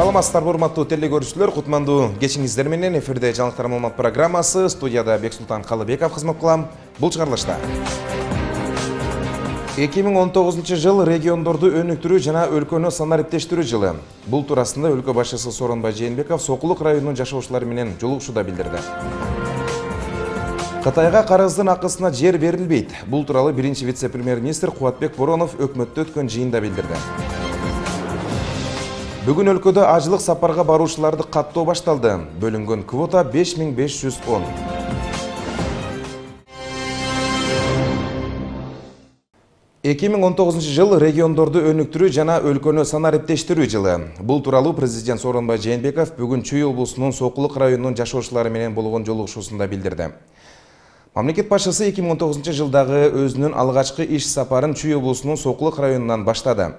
Саламатсыздарбы, урматтуу телекөрүүчүлөр, кутмандуу кечиңиздер менен эфирде жаңылыктар маалымат программасы, студияда Бексултан Калыбеков кызмат кылам. Бул чыгарылышта 2019 жыл региондорду өнүктүрүү жана өлкөнү санариптештирүү жылы. Бул туурасында өлкө башчысы Сооронбай Жээнбеков Сокулук районунун жашоочулары менен жолугушууда билдирди. Кытайга карыздын акысына жер берилбейт. Бул тууралуу биринчи вице-премьер-министр Кубатбек Боронов өкмөттө өткөн жыйында билдирди. Бүгүн өлкөдө ажылык сапарга баруучуларды каттоо башталды. Бөлүнгөн квота 5510. Эки миң 19 жыл региондорду өнүктүрүү жана өлкөнү санариптештирүү жылы. Бул тууралуу президент Сооронбай Жээнбеков бүгүн Чүй облусунун Сокулук районунун жашоочулары менен болгон жолугушуусунда билдирди. Мамлекет башчысы 2019 жылдагы өзүнүн алгачкы иш сапарын Чүй облусунун Сокулук районунан баштады.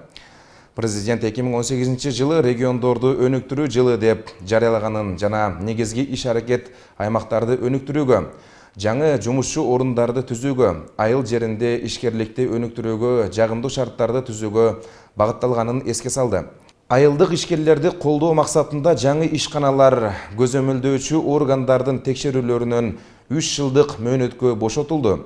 Президент 2018 жылы региондорду өнүктүрүү жылы деп жарыялаганын жана негизги иш-аракет аймактарды өнүктүрүүгө, жаңы жумушчу орундарды түзүүгө, айыл жеринде ишкерликти өнүктүрүүгө, жагымдуу шарттарды түзүүгө багытталганын эске салды. Айылдык ишкерлерди колдоо максатында жаңы ишканалар көзөмөлдөөчү органдардын текшерүүлөрүнөн 3 жылдык мөөнөткө бошотулду.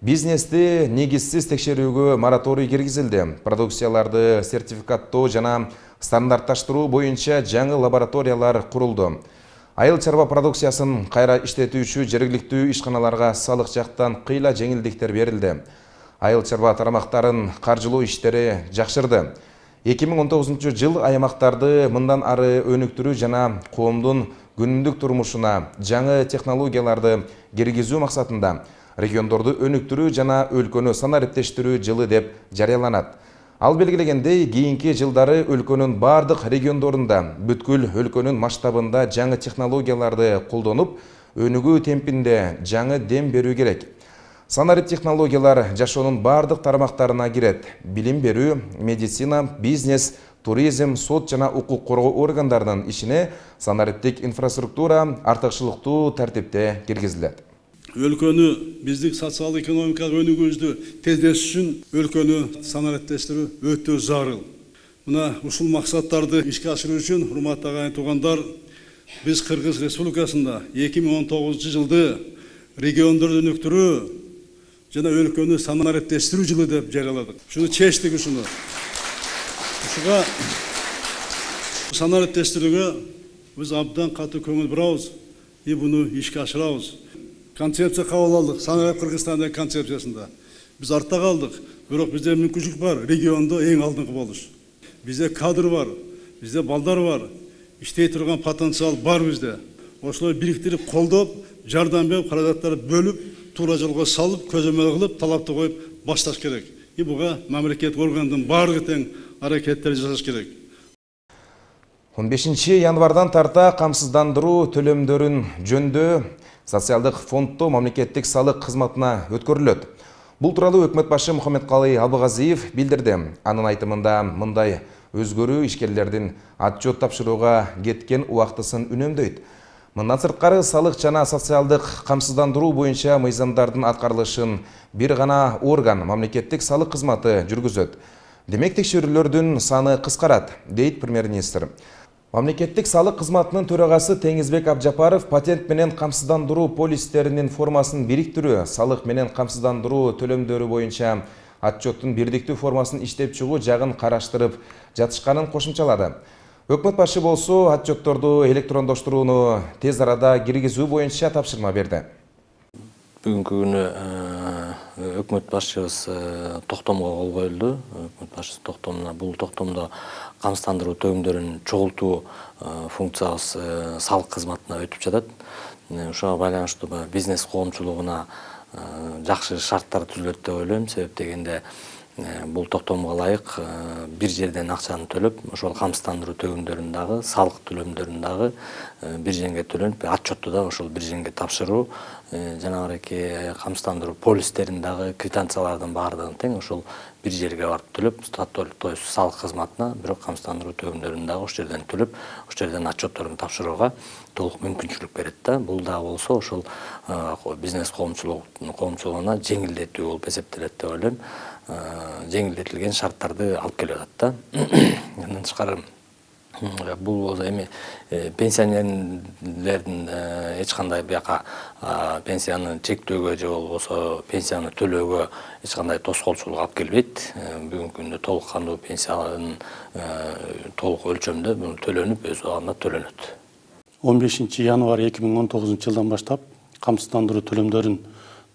Бизнести негизсиз текшерүүгө мораторий киргизилди. Продукцияларды сертификаттоо жана стандартташтыруу боюнча жаңы лабораториялар курулду. Айыл чарба продукциясын кайра иштетүүчү жергиликтүү ишканаларга салык жактан кыйла жеңилдиктер берилди. Айыл чарба тарамактарын каржылоо иштери жакшырды. 2019 жыл аймактарды мындан ары өнүктүрүү жана коомдун күнүмдүк турмушуна жаңы технологияларды киргизүү максатында региондорду өнүктүрүү жана өлкөнү санариптештирүү жылы деп жарыяланат. Ал белгилегендей, кийинки жылдары өлкөнүн бардык региондорунда бүткүл өлкөнүн масштабында жаңы технологияларды колдонуп, өнүгүү темпинде жаңы дем берүү керек. Санарип технологиялар жашоонун бардык тарамактарына кирет. Билим берүү, медицина, бизнес, туризм, сот жана укук коргоо органдарынын ишине санариптик инфраструктура артыкчылыктуу тартипте киргизилет. Өлкөнү биздик социалдык экономикалык өнүгүүбүздү тездетиш үчүн өлкөнү санариптештирүү өтө зарыл. Мына ушул максаттарды ишке ашыруу үчүн, урматтуу агайын туугандар, биз Кыргыз Республикасында 2019 жылды региондорду өнүктүрүү жана өлкөнү санариптештирүү жылы деп жарыяладык. Шуну чечтик ушуну. Ушуга санариптештирүүгө биз абдан катуу көңүл бурабыз и буну ишке ашырабыз. Концепция кабыл алдык, Санарип Кыргызстандын концепциясында. Биз артта калдык, бирок бизде мүмкүнчүлүк бар, региондо эң алдыңкы болуш. Бизде кадр бар, бизде балдар бар, иштей турган потенциал бар бизде. Ошолой бириктирип, колдоп, жардам берип, каражаттарды бөлүп, туура жолго салып, көзөмөл кылып, талапты коюп башташ керек. И буга мамлекет органдын баардыгы тең аракеттер жасаш керек. 15 январдан тарта камсыздандыруу төлөмдөрүн жөндөө социалдык фонддо мамлекеттик салык кызматына өткөрүлөт. Бул тууралуу өкмөт башы Мухаммедкалый Абыгазиев билдирди. Анын айтымында мындай өзгөрүү ишкерлердин отчет тапшырууга кеткен убактысын үнөмдөйт. Мындан сырткары салык жана социалдык камсыздандыруу боюнча мыйзамдардын аткарылышын бир гана орган мамлекеттик салык кызматы жүргүзөт. Демек текшерүүлөрдүн саны кыскарат, дейт премьер-министр. Мамлекеттик салык кызматынын төрагасы Теңизбек Абжапаров патент менен камсыздандыруу полистеринин формасын бириктирүү, салык менен камсыздандыруу төлөмдөрү боюнча отчеттун бирдиктүү формасын иштеп чыгуу жагын караштырып жатышканын кошумчалады. Өкмөт башы болсо отчетторду электрондоштурууну тез арада киргизүү боюнча тапшырма берди. Бүгүнкү күнү өкмөт башчыбыз токтомго кол коюлду. Өкмөт башчысы токтомуна бул токтомдо камсыздандыруу төлөмдөрүн чогултуу функциябыз салык кызматына өтүп жатат. Ошого байланыштуу бизнес коомчулугуна жакшы шарттар түзүлөт деп ойлойм. Себеп дегенде бул токтомго ылайык бир жерден акчаны төлөп, ошол камсыздандыруу төлөмдөрүн дагы, салык төлөмдөрүн дагы бир жерге төлөнүп, отчетту да ошол бир жерге тапшыруу, жанагы камсыздандыруу полистерин дагы, квитанциялардын баардыгын тең ошол бир жерге барып төлөп, то есть салык кызматына, бирок камсыздандыруу төлөмдөрүн дагы ошол жерден төлөп, ошол жерден отчетторун тапшырууга толук мүмкүнчүлүк берет да. Бул да болсо ошол бизнес коомчулугуна жеңилдетүү болуп эсептелет деп ойлойм. Жеңилдетилген шарттарды алып келип атат да. Андан тышкары Бул эми пенсионерлердин эч кандай бияка пенсияны чектөөгө же болбосо пенсияны төлөөгө эч кандай тоскоолчулук алып келбейт. Бүгүнкү күндө толук кандуу пенсиянын толук өлчөмдө төлөнүп, өз убагында төлөнөт. 15 январь 2019 жылдан баштап камсыздандыруу төлөмдөрүн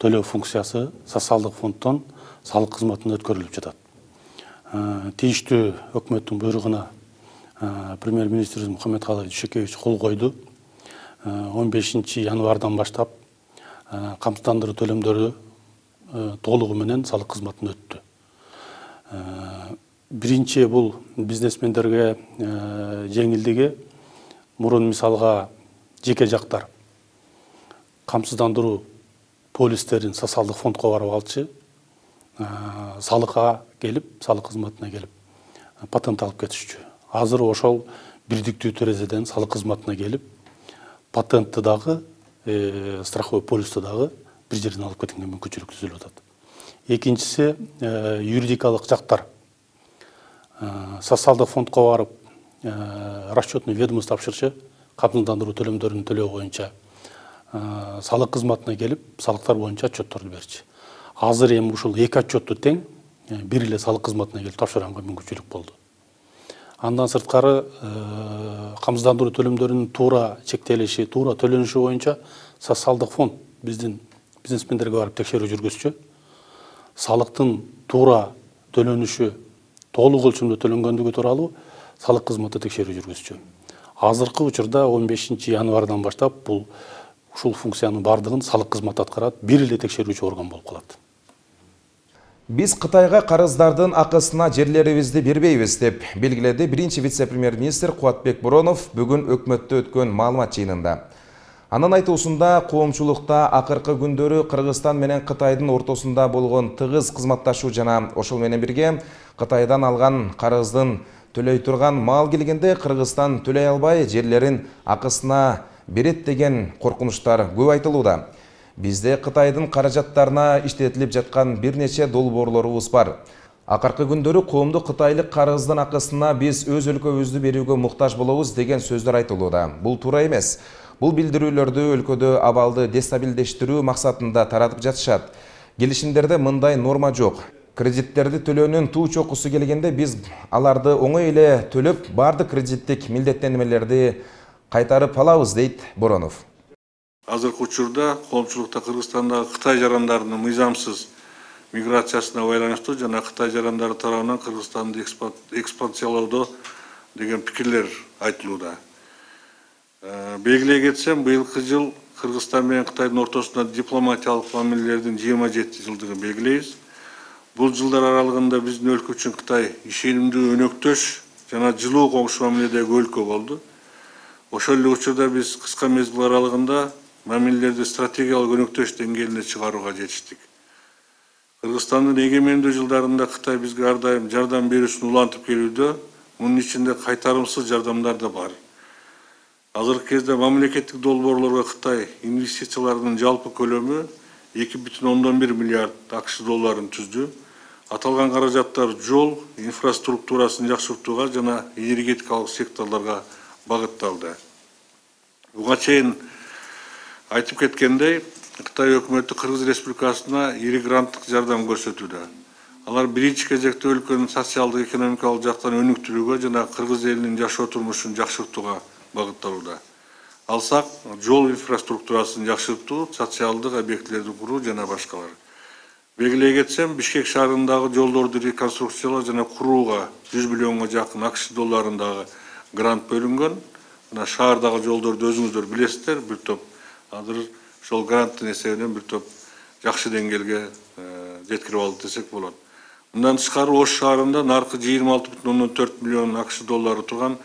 төлөө функциясы социалдык фонддон салык кызматына өткөрүлүп жатат. Тийиштүү өкмөттүн буйругуна премьер-министр Мухаммедкалый Дүйшөкевич кол койду. 15 январдан баштап камсыздандыруу төлөмдөрү толугу менен салык кызматына өттү. Биринчи бул бизнесмендерге жеңилдиги. Мурун мисалга жеке жактар камсыздандыруу полистерин социалдык фондко барып алчы, салыкка келип, салык кызматына келип патент алып кетишчү. Азыр ошол бирдиктүү терезеден салык кызматына келип, патентти дагы, страховой полисти дагы бир жерден алып кеткенге мүмкүнчүлүк түзүлүп атат. Экинчиси, юридикалык жактар социалдык фондко барып, расчетный ведомство тапшырчы, камсыздандыруу төлөмдөрүн төлөө боюнча салык кызматына келип, салыктар боюнча отчетторду берчи. Азыр эми ушул эки отчетту тең бир эле салык кызматына келип тапшырганга мүмкүнчүлүк болду. Андан сырткары камсыздандыруу төлөмдөрүнүн туура чектелиши, туура төлөнүшү боюнча социалдык фонд биздин бизнесмендерге барып текшерүү жүргүзчү. Салыктын туура төлөнүшү, толук өлчөмдө төлөнгөндүгү тууралуу салык кызматы текшерүү жүргүзчү. Азыркы учурда 15 январдан баштап бул ушул функциянын бардыгын салык кызматы аткарат, бир эле текшерүүчү орган болуп калат. Биз Кытайга карыздардын акысына жерлерибизди бербейбиз деп белгиледи биринчи вице-премьер-министр Кубатбек Боронов бүгүн өкмөттө өткөн маалымат жыйынында. Анын айтуусунда коомчулукта акыркы күндөрү Кыргызстан менен Кытайдын ортосунда болгон тыгыз кызматташуу жана ошол менен бирге Кытайдан алган карыздын төлөй турган маал келгенде Кыргызстан төлөй албай жерлерин акысына берет деген коркунучтар көп айтылууда. Бизде Кытайдын каражаттарына иштетилип жаткан бир нече долбоорлорубуз бар. Акыркы күндөрү коомдук кытайлык карыздын акысына биз өз өлкөбүздү берүүгө муктаж болобуз деген сөздөр айтылууда. Бул туура эмес. Бул билдирүүлөрдү өлкөдө абалды дестабилдештирүү максатында таратып жатышат. Келишимдерде мындай норма жок. Кредиттерди төлөөнүн туу чокусу келгенде биз аларды оңой эле төлөп, бардык кредиттик милдеттенмелерди кайтарып алабыз, дейт Боронов. Азыркы учурда коомчулукта Кыргызстандагы Кытай жарандарынын мыйзамсыз миграциясына байланыштуу жана Кытай жарандары тарабынан Кыргызстанды экспансиялоодо деген пикирлер айтылууда. Белгилей кетсем, быйылкы жыл Кыргызстан менен Кытайдын ортосунда дипломатиялык мамилелердин 27 жылдыгын белгилейбиз. Бул жылдар аралыгында биздин өлкө үчүн Кытай ишенимдүү өнөктөш жана жылуу коңшу мамиледеги өлкө болду. Ошол эле учурда биз кыска мезгил аралыгында мамилелерди стратегиялык өнөктөш деңгээлине чыгарууга жетиштик. Кыргызстандын эгемендүү жылдарында Кытай бизге ар дайым жардам берүүсүн улантып келүүдө, мунун ичинде кайтарымсыз жардамдар да бар. Азыркы кезде мамлекеттик долбоорлорго Кытай инвестицияларынын жалпы көлөмү 2,1 миллиард АКШ долларын түздү. Аталган каражаттар жол инфраструктурасын жакшыртууга жана энергетикалык секторлорго багытталды. Буга чейин айтып кеткендей, Кытай өкмөтү Кыргыз Республикасына ири гранттык жардам көрсөтүүдө. Алар биринчи кезекте өлкөнүн социалдык экономикалык жактан өнүктүрүүгө жана кыргыз элинин жашоо турмушун жакшыртууга багытталууда. Алсак, жол инфраструктурасын жакшыртуу, социалдык объектилерди куруу жана башкалар. Белгилей кетсем, Бишкек шаарындагы жолдорду реконструкциялоо жана курууга 100 миллионго жакын АКШ долларындагы грант бөлүнгөн. Мына шаардагы жолдорду өзүңүздөр билесиздер, бир топ азыр ошол гранттын эсебинен бир топ жакшы деңгээлге жеткирип алды десек болот. Мындан тышкары Ош шаарында наркы 26,4 миллион АКШ доллары турган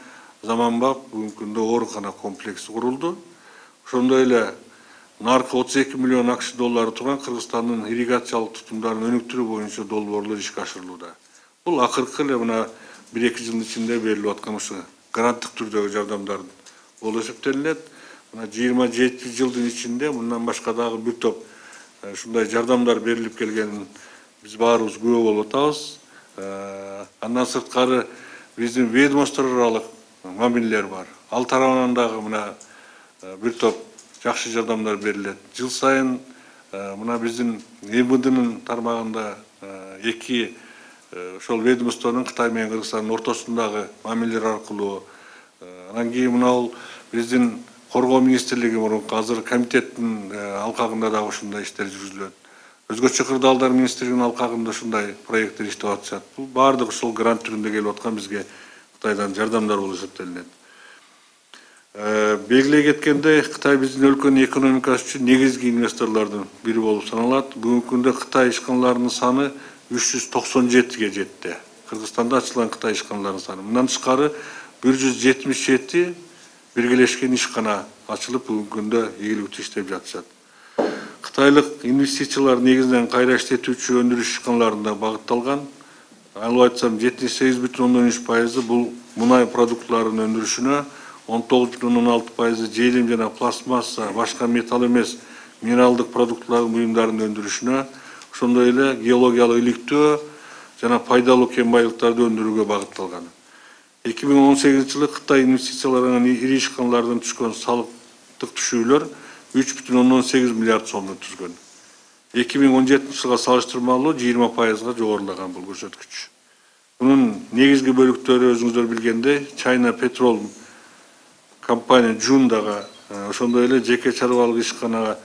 заманбап бүгүнкү күндө оорукана комплекси курулду. Ошондой эле наркы 32 миллион АКШ доллары турган Кыргызстандын ирригациялык тутумдарын өнүктүрүү боюнча долбоорлор ишке ашырылууда. Бул акыркы эле мына 1-2 жылдын ичинде берилип аткан ушу гранттык түрдөгү жардамдар болуп эсептелинет. Мына 27 жылдын ичинде мындан башка дагы бир топ ушундай жардамдар берилип келгенин биз баарыбыз күбө болуп атабыз. Андан сырткары биздин ведомство аралык мамилелер бар. Ал тарабынан дагы мына бир топ жакшы жардамдар берилет. Жыл сайын мына биздин МВДнын тармагында эки ошол ведомствонун Кытай менен Кыргызстандын ортосундагы мамилелер аркылуу, анан кийин мына биздин Коргоо министрлиги мурунку азыр комитеттин алкагында дагы ушундай иштер жүргүзүлөт. Өзгөчө кырдаалдар министрлигинин алкагында ушундай проекттер иштеп атышат. Бул баардыгы ушул грант түрүндө келип аткан бизге Кытайдан жардамдар болуп эсептелинет. Белгилей кеткендей, Кытай биздин өлкөнүн экономикасы үчүн негизги инвесторлордун бири болуп саналат. Бүгүнкү күндө Кытай ишканаларынын саны 397ге жетти. Кыргызстанда ачылган Кытай ишканаларынын саны. Мындан тышкары 177 биргелешкен ишкана ачылып, бүгүнкү күндө ийгиликтүү иштеп жатышат. Кытайлык инвестициялар негизинен кайра иштетүүчү өндүрүш ишканаларына багытталган. Алып айтсам 78,13% бул мунай продуктларынын өндүрүшүнө, 19,16% желим жана пластмасса, башка металл эмес минералдык продуктлардын буюмдарын өндүрүшүнө, ошондой эле геологиялык иликтөө жана пайдалуу кен байлыктарды өндүрүүгө багытталган. 2018 жылы Кытай инвестицияларынан ири ишканалардан түшкөн салыктык түшүүлөр 3,18 миллиард сомду түзгөн. 2017 жылга салыштырмалуу 20%га жогорулаган бул көрсөткүч. Bunun негизги бөлүктөрү өзүңүздөр билгендей, China Petrol компания Жундага, ошондой эле жеке чарбалык ишканага,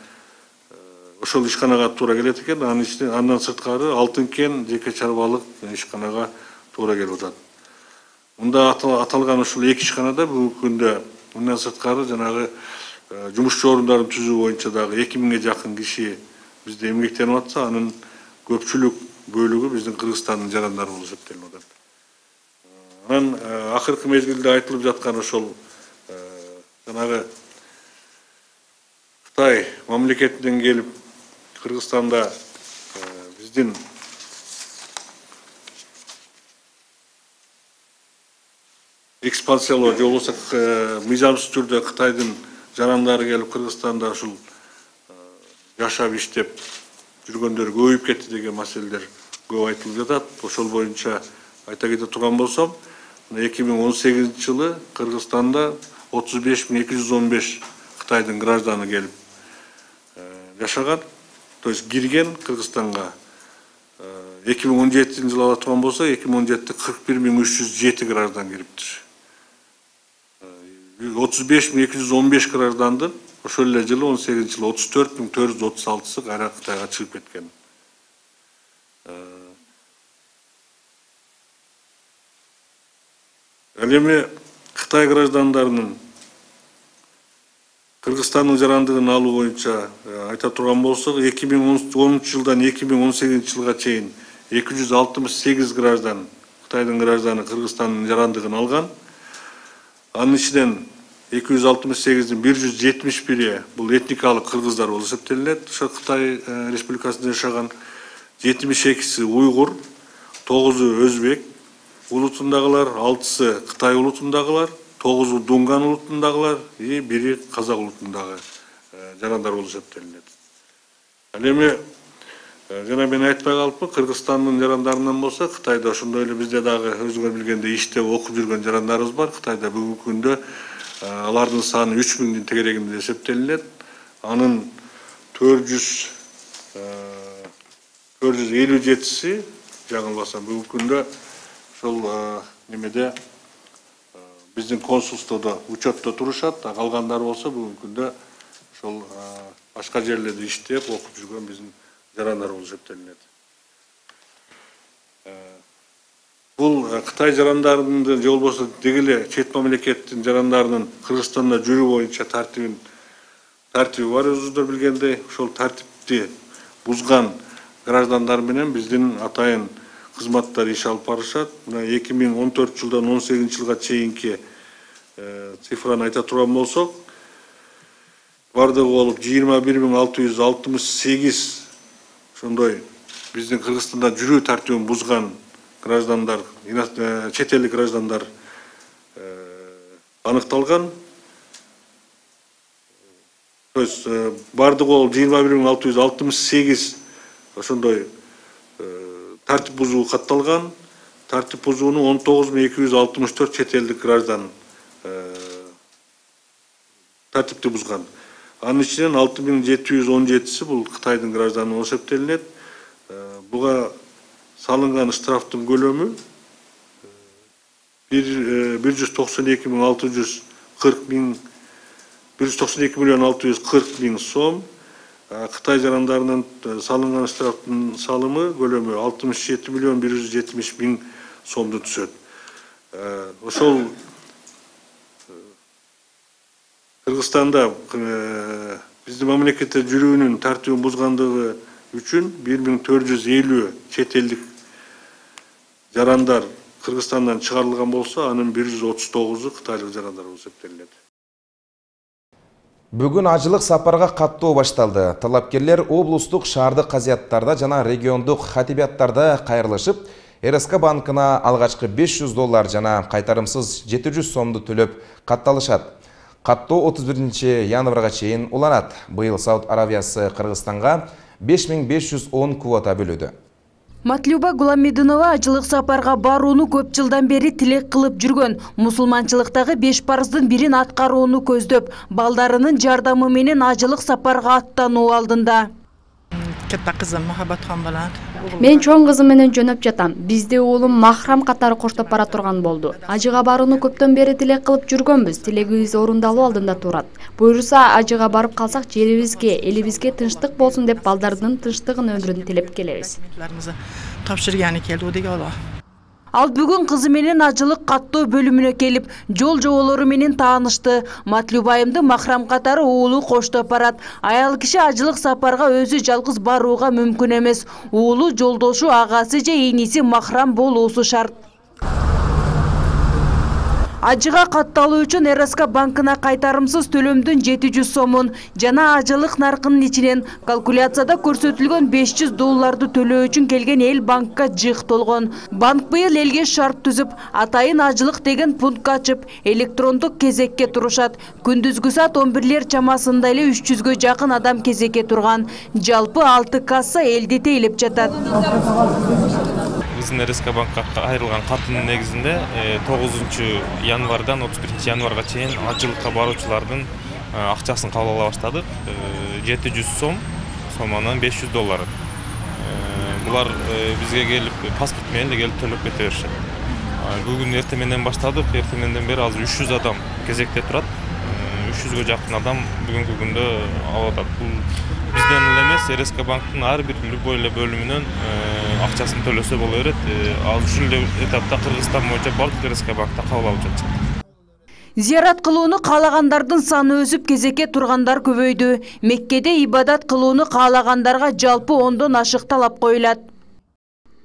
ошол ишканага туура келет экен, андан сырткары Алтын кен жеке чарбалык ишканага туура келип атат. Мында аталган ушул эки ишканада бүгүнкү күндө мындан сырткары жанагы жумушчу орундарын түзүү боюнча дагы 2000ге жакын киши бизде эмгектенип атса, анын көпчүлүк бөлүгү биздин Кыргызстандын жарандары болуп эсептелип атат. Анан акыркы мезгилде айтылып жаткан ошол жанагы Кытай мамлекетинен келип Кыргызстанда биздин экспансиялоо же болбосо мыйзамсыз түрдө Кытайдын жарандары келип Кыргызстанда ушул жашап иштеп жүргөндөр көбөйүп кетти деген маселелер көп айтылып жатат. Ошол боюнча айта кете турган болсом, 2018 жылы Кыргызстанда 35.215 Кытайдын гражданы келип жашаган, то есть кирген Кыргызстанга. 2017 жылы ала турган болсо, 2017-те 41.307 граждан кириптир. 35.215 граждандын ошол эле жылы 18 жылы 34.436-сы кайра Кытайга чыгып кеткен. Ал эми Кытай граждандарынын Кыргызстандын жарандыгын алуу боюнча айта турган болсок, 2010 жылдан 2018 жылга чейин 268 граждан, Кытайдын гражданы Кыргызстандын жарандыгын алган. Анын ичинен 268'in 171'i бул этникалык кыргыздар болуп эсептелинет. Ошо Кытай Республикасында жашаган 72'си уйгур, 9'у өзбек улутундагылар, 6'сы Кытай улутундагылар, 9'у Дунган улутундагылар, 1'и Казак улутундагы жарандар болуп эсептелинет. Ал эми жана мен айтпай калыпмын, Кыргызстандын жарандарынан болсо, Кытайда ошондой эле бизде дагы өзүңөр билгендей иштеп окуп жүргөн жарандарыбыз бар. Кытайда бүгүнкү күндө алардын саны 3000'дин тегерегинде эсептелинет. Анын 457'си жаңылбасам бүгүнкү күндө ошол немеде биздин консулстводо учетто турушат. Калгандары болсо бүгүнкү күндө ошол башка жерлерде иштеп окуп жүргөн биздин жарандар болуп эсептелинет. Бул Кытай жарандарынын же болбосо дегеле чет мамлекеттин жарандарынын Кыргызстанда жүрүү боюнча тартиби бар, өзүңүздөр билгендей. Ошол тартипти бузган граждандар менен биздин атайын кызматтар иш алып барышат. Мына 2014 жылдан 18 жылга чейинки цифраны айта турган болсок, бардыгы болуп 21.668 ошондой биздин Кыргызстанда жүрүү тартибин бузган граждандар, чет элдик граждандар аныкталган. То есть бардыгы болуп 21.668 ошондой тартип бузуу катталган. Тартип бузууну 19.264 чет элдик граждан тартипти бузган. Анын ичинен 6717 бул Кытайдын гражданы болуп эсептелинет. Буга салынган штрафтын көлөмү 192 миллион 640 миң сом. Кытай жарандарынын салынган штрафтын салымы көлөмү 67 миллион 170 миң сомду түшөт. Ошол Кыргызстанда биздин мамлекетте жүрүүнүн тартибин бузгандыгы үчүн 1450 чет элдик жарандар Кыргызстандан чыгарылган болсо, анын 139-у кытайлык жарандар болуп эсептелинет. Бүгүн ажылык сапарга каттоо башталды. Талапкерлер облустук шаардык казыяттарда жана региондук хатибияттарда кайрылышып, РСК банкына алгачкы $500 жана кайтарымсыз 700 сомду төлөп катталышат. Каттоо 31 январга чейин уланат. Быйыл Сауд Аравиясы Кыргызстанга 5510 квота бөлөдү. Матлюба Гуламединова ажылык сапарга барууну көп жылдан бери тилек кылып жүргөн. Мусулманчылыктагы 5 парыздын бирин аткарууну көздөп, балдарынын жардамы менен ажылык сапарга аттануу алдында. Мен чоң кызым менен жөнөп жатам. Бизди уулум махрам катары коштоп бара турган болду. Ажыга барууну көптөн бери тилек кылып жүргөнбүз. Тилегибиз орундалуу алдында турат. Буюрса ажыга барып калсак, жерибизге, элибизге тынчтык болсун деп балдардын тынчтыгын өмүрүн тилеп келебиз. Ал бүгүн кызы менен ажылык каттоо бөлүмүнө келип, жол жоболору менен таанышты. Матлюбайымды махрам катары уулу коштоп барат. Аял киши ажылык сапарга өзү жалгыз барууга мүмкүн эмес. Уулу, жолдошу, агасы же ийниси махрам болуусу шарт. Ажыга катталуу үчүн РСК банкына кайтарымсыз төлөмдүн 700 сомун жана ажылык наркынын ичинен калкуляцияда көрсөтүлгөн $500 төлөө үчүн келген эл банкка жыйктолгон. Банк быйыл элге шарт түзүп, атайын ажылык деген пункт ачып, электрондук кезекке турушат. Күндүзгү саат 11-лер чамасында эле 300гө жакын адам кезекке турган. Жалпы 6 касса элди тейлеп жатат. Биздин РСК банкка кайрылган каттын негизинде 9 январдан 31 январга чейин ажылыкка баруучулардын акчасын кабыл ала баштадык. 700 сомунан $500. Булар бизге келип паспорт менен келип төлөп кете беришет. Бүгүн эртең менен баштадык. Эртең менден бери азыр 300 адам кезекте турат. 300гө жакын адам бүгүнкү күндө алып атат. Бул бизден эле эмес, РСК банктын ар бир любой эле бөлүмүнөн акчасын төлөсө боло берет. Ал ушул этапта Кыргызстан боюнча бардык РСК банкта кабыл алып жатышат. Зиярат кылууну каалагандардын саны өсүп, кезекке тургандар көбөйдү. Меккеде ибадат кылууну каалагандарга жалпы 10дон ашык талап коюлат.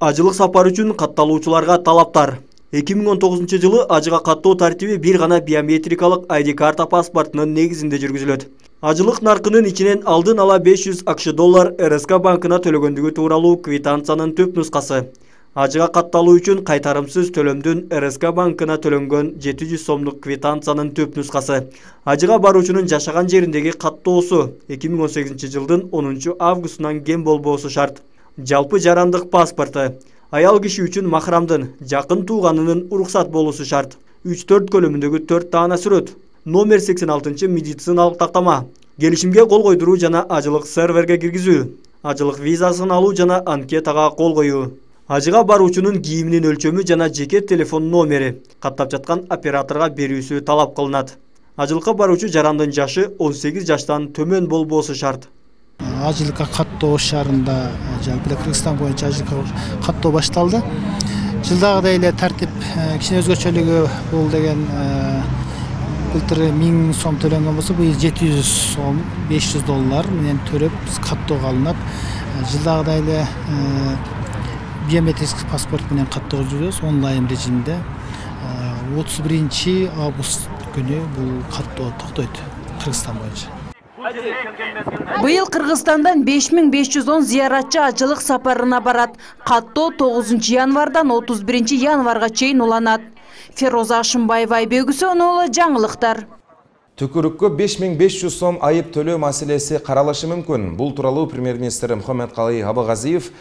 Ажылык сапар үчүн катталуучуларга талаптар. 2019 жылы ажыга каттоо тартиби бир гана биометрикалык ID карта паспортунун негизинде жүргүзүлөт. Ажылык наркынын ичинен алдын ала $500 РСК банкына төлөгөндүгү тууралуу квитанциянын төп нускасы. Ажыга катталуу үчүн кайтарымсыз төлөмдүн РСК банкына төлөнгөн 700 сомдук квитанциянын төп нускасы. Ажыга баруучунун жашаган жериндеги каттоосу 2018 жылдын 10 августунан кем болбоосу шарт. Жалпы жарандык паспорту. Аял киши үчүн махрамдын, жакын тууганынын уруксат болуусу шарт. 3-4 көлөмүндөгү 4 таана сүрөт. Номер 86 медициналык тактама. Келишимге кол койдуруу жана ажылык серверге киргизүү. Ажылык визасын алуу жана анкетага кол коюу. Ажыга баруучунун кийиминин өлчөмү жана жеке телефон номери каттап жаткан операторго берүүсү талап кылынат. Ажылыкка баруучу жарандын жашы 18 жаштан төмөн болбоосу шарт. Ажылыкка каттоо шаарында жалпы Кыргызстан боюнча ажылыкка каттоо башталды. Жылдагыдай эле тартип кичине өзгөчөлүгү бул деген былтыр 1000 сом төлөнгөн болсо, быйыл 700 сом $500 менен төлөп каттоого алынат. Жылдагыдай эле биометрик паспорт менен каттоо жүрөбүз онлайн режимде. 31 август күнү бул каттоо токтойт Кыргызстан боюнча. Быйыл Кыргызстандан 5510 зияратчы ажылык сапарына барат. Каттоо 9 январдан 31 январга чейин уланат. Фероза Ашымбаева, Айбек Үсөнұлы, жаңылыктар. Түкүрүккө 5500 сом айып төлөө маселеси каралышы мүмкүн. Бул тууралуу премьер-министр Мухаммедкалый Абагазиев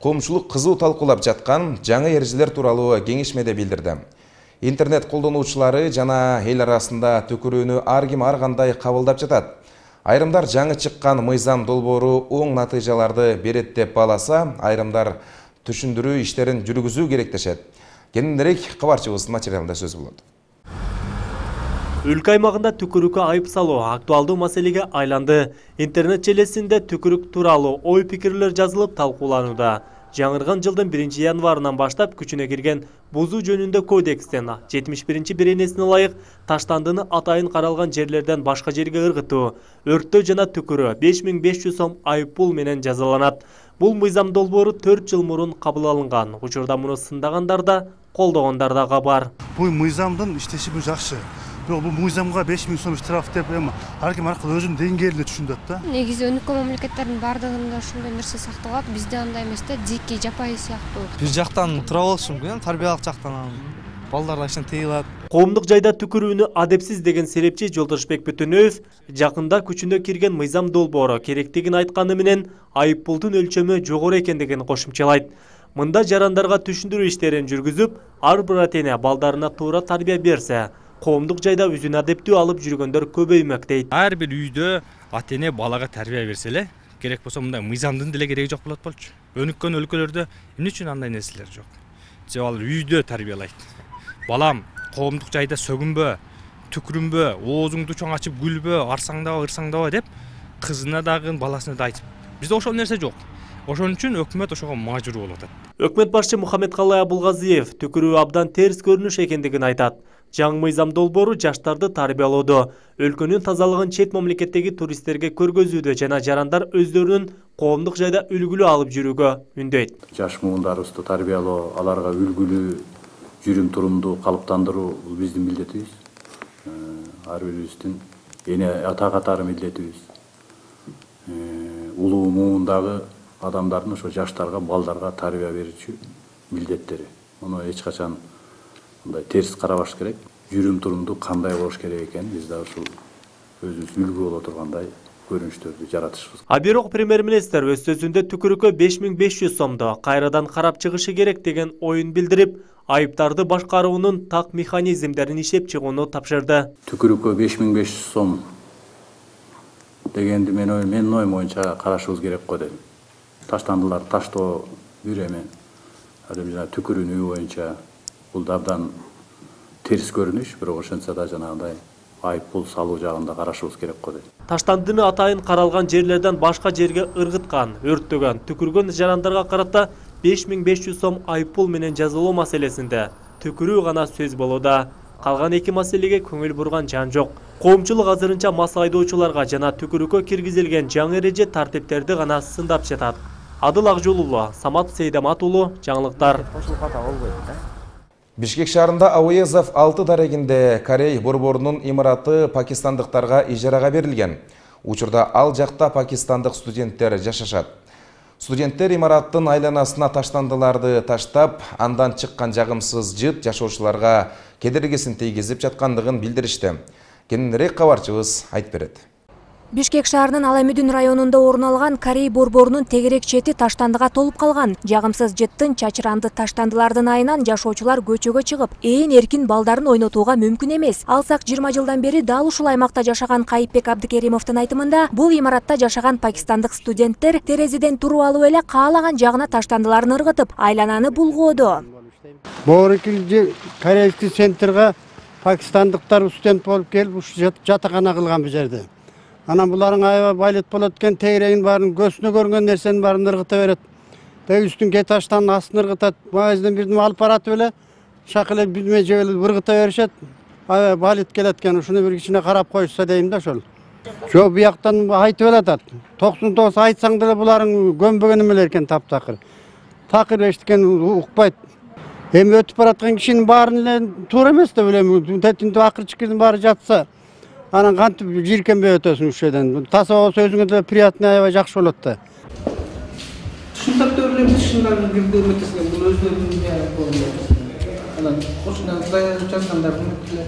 коомчулук кызуу талкуулап жаткан жаңы эрежелер тууралуу кеңешмеде билдирди. Интернет колдонуучулары жана эл арасында түкүрүүнү ар ким ар кандай кабылдап жатат. Айрымдар жаңы чыккан мыйзам долбоору оң натыйжаларды берет деп бааласа, айрымдар түшүндүрүү иштерин жүргүзүү керек дешет. Кененирээк кабарчыбыздын материалында сөз болот. Өлкө аймагында түкүрүккө айып салуу актуалдуу маселеге айланды. Интернет желесинде түкүрүк тууралуу ой пикирлер жазылып талкууланууда. Жаңырган жылдын 1 январынан баштап күчүнө кирген бузуу жөнүндө кодекстен 71 беренесине ылайык таштандыны атайын каралган жерлерден башка жерге ыргытуу, өрттөө жана түкүрүү 5500 сом айып пул менен жазаланат. Бул мыйзам долбоору 4 жыл мурун кабыл алынган. Учурда муну сындагандар да, колдогондар да бар. Бул мыйзамдын иштеши жакшы. Бирок бул мыйзамга 5000 сом штраф деп ар ким аркылуу өзүнүн деңгээлинде түшүнөт да. Негизи өнүккөн мамлекеттердин бардыгында ошондой нерсе сакталат, бизде андай эмес да, дикий, жапайы сыяктуу. Бир жактан тура болушу мүмкүн, тарбиялык жактан балдар ишин тыйылат. Коомдук жайда түкүрүүнү адепсиз деген серепчи Жолдошбек Бүтүнөев жакында күчүнө кирген мыйзам долбоору керектигин айтканы менен айып пулдун өлчөмү жогору экендигин кошумчалайт. Мында жарандарга түшүндүрүү иштерин жүргүзүп, ар бир ата-эне балдарына туура тарбия берсе, коомдук жайда өзүн адептүү алып жүргөндөр көбөймөк дейт. Ар бир үйдө ата-эне балага тарбия берсе эле, керек болсо мындай мыйзамдын деле кереги жок болот болчу. Өнүккөн өлкөлөрдө эмне үчүн андай нерселер жок? Же алар үйдө тарбиялайт. Балам, коомдук жайда сөгүнбө, түкүрүнбө, оозуңду чоң ачып күлбө, арсаңдаба, ырсаңдаба деп кызына дагы, баласына да айтып. Бизде ошол нерсе жок. Ошон үчүн өкмөт ошого мажбур болуп атат. Өкмөт башчы Мухаммедкалый Абулгазиев түкүрүү абдан терс көрүнүш экендигин айтат. Жаңы мыйзам долбоору жаштарды тарбиялоодо, өлкөнүн тазалыгын чет мамлекеттеги туристтерге көргөзүүдө жана жарандар өздөрүнүн коомдук жайда үлгүлүү алып жүрүүгө үндөйт. Жаш муундарыбызды тарбиялоо, аларга үлгүлүү жүрүм турумду калыптандыруу бул биздин милдетибиз. Ар бирибиздин эне ата катары милдетибиз. Улуу муундагы адамдардын ошо жаштарга, балдарга тарбия берүүчү милдеттери. Муну эч качан мындай терс карабаш керек. Жүрүм турумду кандай болуш керек экен биз да ушул өзүбүз үлгү боло тургандай көрүнүштөрдү жаратышыбыз. А бирок премьер-министр өз сөзүндө түкүрүккө 5500 сомдо кайрадан карап чыгышы керек деген оюн билдирип, айыптарды башкаруунун так механизмдерин иштеп чыгууну тапшырды. Түкүрүккө 5500 сом дегенди менин оюм боюнча карашыбыз керек го дейм. Таштандылар таштоо бир эме. Жана түкүрүүнү боюнча бул абдан терс көрүнүш, бирок ошентсе да жанагындай айып пул салуу жагында карашыбыз керек го дейм. Таштандыны атайын каралган жерлерден башка жерге ыргыткан, өрттөгөн, түкүргөн жарандарга карата 5500 сом айып пул менен жазалоо маселесинде түкүрүү гана сөз болууда. Калган эки маселеге көңүл бурган жан жок. Коомчулук азырынча мас айдоочуларга жана түкүрүккө киргизилген жаңы эреже тартиптерди гана сындап жатат. Адыл Акжолулу, Самат Сейдамат уулу, жаңылыктар. Бишкек шаарында Ауезов 6 дарегинде Корей борборунун имараты пакистандыктарга ижарага берилген. Учурда ал жакта пакистандык студенттер жашашат. Студенттер имараттын айланасына таштандыларды таштап, андан чыккан жагымсыз жыт жашоочуларга кедергисин тийгизип жаткандыгын билдиришти. Кененирээк кабарчыбыз айтып берет. Бишкек шаарынын Аламүдүн районунда орун алган Корей борборунун тегерек чети таштандыга толуп калган. Жагымсыз жыттын чачыранды таштандылардын айынан жашоочулар көчөгө чыгып, эркин балдарын ойнотууга мүмкүн эмес. Алсак 20 жылдан бери дал ушул аймакта жашаган Кайыпбек Абдыкеримовдун айтымында, бул имаратта жашаган пакистандык студенттер терезеден туруп алып эле каалаган жагына таштандыларын ыргытып, айлананы булгоодо. Борикил корейский центрга пакистандыктар студент болуп келип, ушу жатакана кылган бу жерде. Анан буларың аябай байлет болот экен, тегерегин баарын көзүнө көргөн нерсенин баарын ыргыта берет. Теги үстүн ке таштан астын ыргытат. Магазинден бирдеме алып баратып эле, шак эле билме жеп эле ыргыта беришет. Аябай байлет келет экен, ушуну бир кичине карап коюшса дейм да ошол. Жок, бияктан айтып элатат. 99 айтсаң деле буларың көмбөгөн эмелер экен таптакыр. Такыр эчтекен укпайт. Эми өтүп бараткан кишинин баарын эле туура эмес деп элем. Тетинде акырчыкынын баары жатса, анан кантип жиркенбей өтөсүң ушул жерден. Таза болсо өзүңө да приятный, аябай жакшы болот да. Ушундай төрөлөр тышындагы бирдеме этесиң, бул өзлөрүнүн болот. Анан ошондон жазгандардын эле.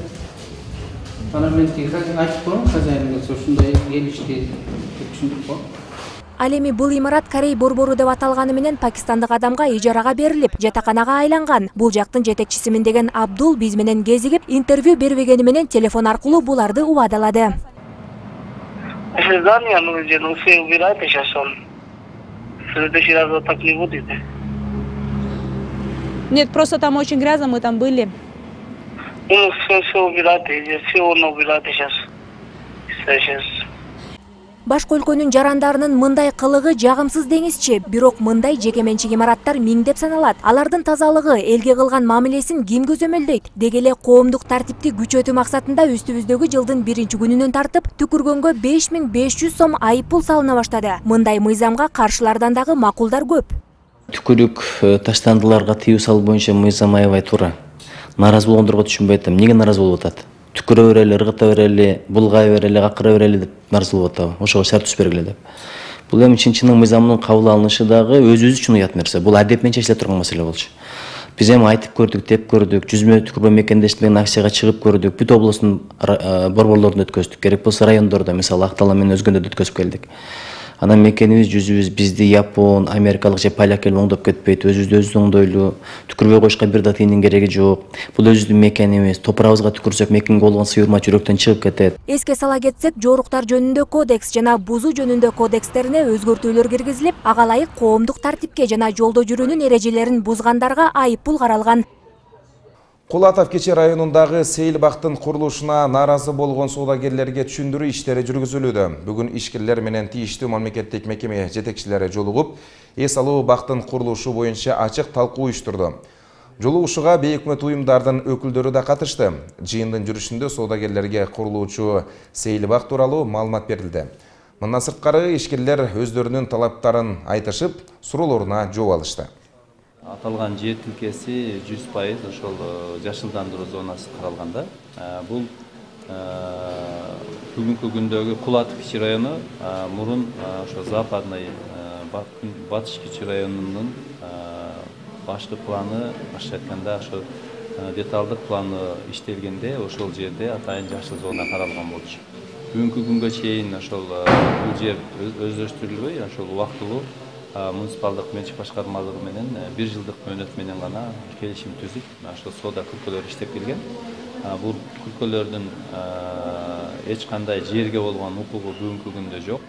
Анан мен тиги айтып коем, хозяин келсе ушундай эл ишти деп түшүндүк го. Ал эми бул имарат Корей борбору деп аталганы менен пакистандык адамга ижарага берилип, жатаканага айланган. Бул жактын жетекчисимин деген Абдул биз менен кезигип, интервью бербегени менен телефон аркылуу буларды убадалады. Здание нужно, но все убирайте сейчас он. В следующий раз вот так не будет. Нет, просто там очень грязно, мы там были. Ну, все убирайте, все он убирайте сейчас. Сейчас. Башка өлкөнүн жарандарынын мындай кылыгы жагымсыз деңизчи, бирок мындай жекеменчик имараттар миңдеп саналат. Алардын тазалыгы, элге кылган мамилесин ким көзөмөлдөйт? Деги эле коомдук тартипти күчөтүү максатында үстүбүздөгү жылдын 1-күнүнөн тартып түкүргөнгө 5500 сом айыппул салына баштады. Мындай мыйзамга каршылардан дагы макулдар көп. Түкүрүк таштандыларга тыюу салуу боюнча мыйзам аябай туура. Нааразы болгондорго түшүнбөй атам. Эмнеге нааразы болуп атат? Түкүрө берели, ыргыта берели, булгай берели, акыра берели деп нааразы болуп атабы? Ошого шарт түз бергиле деп. Бул эми чынчынын мыйзамынын кабыл алынышы дагы өзүбүз үчүн уят нерсе. Бул адеп менен чечиле турган маселе болчу. Биз эми айтып көрдүк, деп көрдүк, жүзмө түкүрбө мекендешти менен акцияга чыгып көрдүк. Бүт облустун борборлорунда өткөздүк. Керек болсо райондордо, мисалы Актала менен өзгөндө да өткөзүп келдик. Анан мекенибиз, жүзүбүз бизди япон, америкалык же поляк эл оңдоп кетпейт. Өзүбүздү оңдойлу. Түкүрбөй коюшка бир да тыйындын кереги жок. Бул өзүбүздүн мекенибиз. Топурабызга түкүрсөк, мекенге болгон сыйырма жүрөктөн чыгып кетет. Эске сала кетсек, жоруктар жөнүндө кодекс жана бузуу жөнүндө кодекстерине өзгөртүүлөр киргизилип, ага ылайык коомдук тартипке жана жолдо жүрүүнүн эрежелерин бузгандарга айыппул каралган. Кул Атавкечи районундагы сейилбактын курулушуна нааразы болгон соодагерлерге түшүндүрүү иштери жүргүзүлүүдө. Бүгүн ишкерлер менен тийиштүү мамлекеттик мекеме жетекчилери жолугуп, эс алуу бактын курулушу боюнча ачык талкуу уюштурду. Жолугушууга бейөкмөт уюмдардын өкүлдөрү да катышты. Жыйындын жүрүшүндө соодагерлерге курулуучу сейилбак тууралуу маалымат берилди. Мындан сырткары ишкерлер өздөрүнүн талаптарын айтышып, суроолоруна жооп алышты. Аталган жер тилкеси 100% ошол жашылдандыруу зонасы каралганда. Бул бүгүнкү күндөгү Кул Атавкечи району мурун ошо западный батыш кичи районунун башкы планы, башкача айтканда ошо деталдык планы иштелгенде ошол жерде атайын жашыл зона каралган болчу. Бүгүнкү күнгө чейин ошол бул жер өздөштүрүлбөй, ошол убактылуу муниципалдык менчик башкармалыгы менен 1 жылдык мөөнөт менен гана келишим түзүп, ошол соода күлкөлөр иштеп келген. Бул күлкөлөрдүн эч кандай жерге болгон укугу бүгүнкү күндө жок.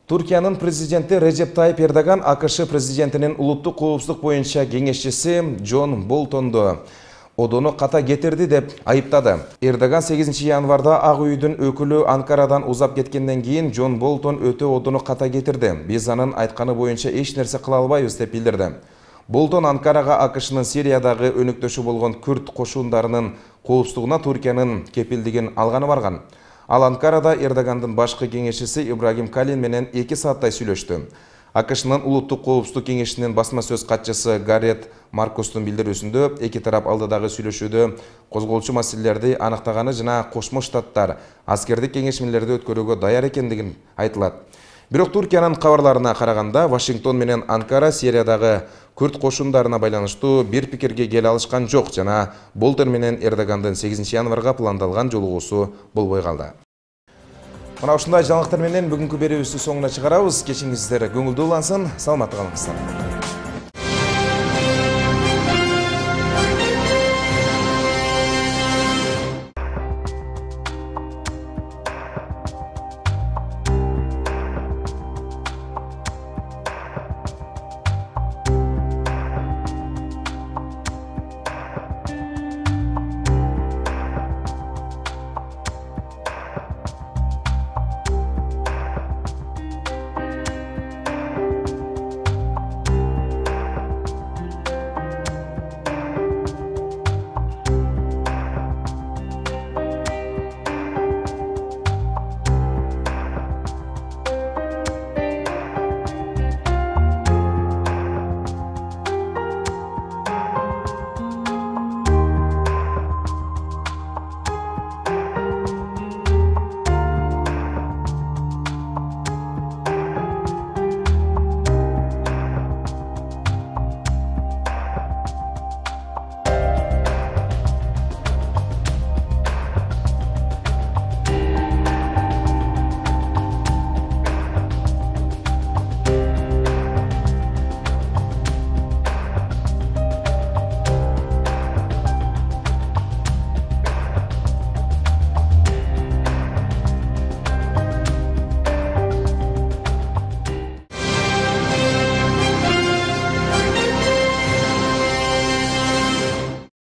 Туркиянын президенти Режеп Тайип Эрдоган АКШ президентинин улуттук коопсуздук боюнча кеңешчиси Джон Болтонду одону ката кетирди деп айыптады. Эрдоган 8 январда Ак үйдүн өкүлү Анкарадан узап кеткенден кийин Джон Болтон өтө одону ката кетирди. Биз анын айтканы боюнча эч нерсе кыла албайбыз деп билдирди. Болтон Анкарага АКШнын Сириядагы өнөктөшү болгон күрд кошундарынын коопсуздугуна Туркиянын кепилдигин алганы барган. Ал Анкарада Эрдогандын башкы кеңешчиси Ибрагим Калин менен 2 сааттай сүйлөштү. АКШнын улуттук коопсуздук кеңешинин басма сөз катчысы Гарет Маркустун билдирүүсүндө эки тарап алдыдагы сүйлөшүүдө козголчу маселелерди аныктаганы жана Кошмо Штаттар аскердик кеңешмелерди өткөрүүгө даяр экендигин айтылат. Бирок Туркиянын кабарларына караганда Вашингтон менен Анкара Сириядагы күрд кошундарына байланыштуу бир пикирге келе алышкан жок жана Болтон менен Эрдогандын 8 январга пландалган жолугуусу болбой калды. Мына ушундай жаңылыктар менен бүгүнкү берүүбүздү соңуна чыгарабыз. Кечиңиздер көңүлдүү улансын, саламатта калыңыздар.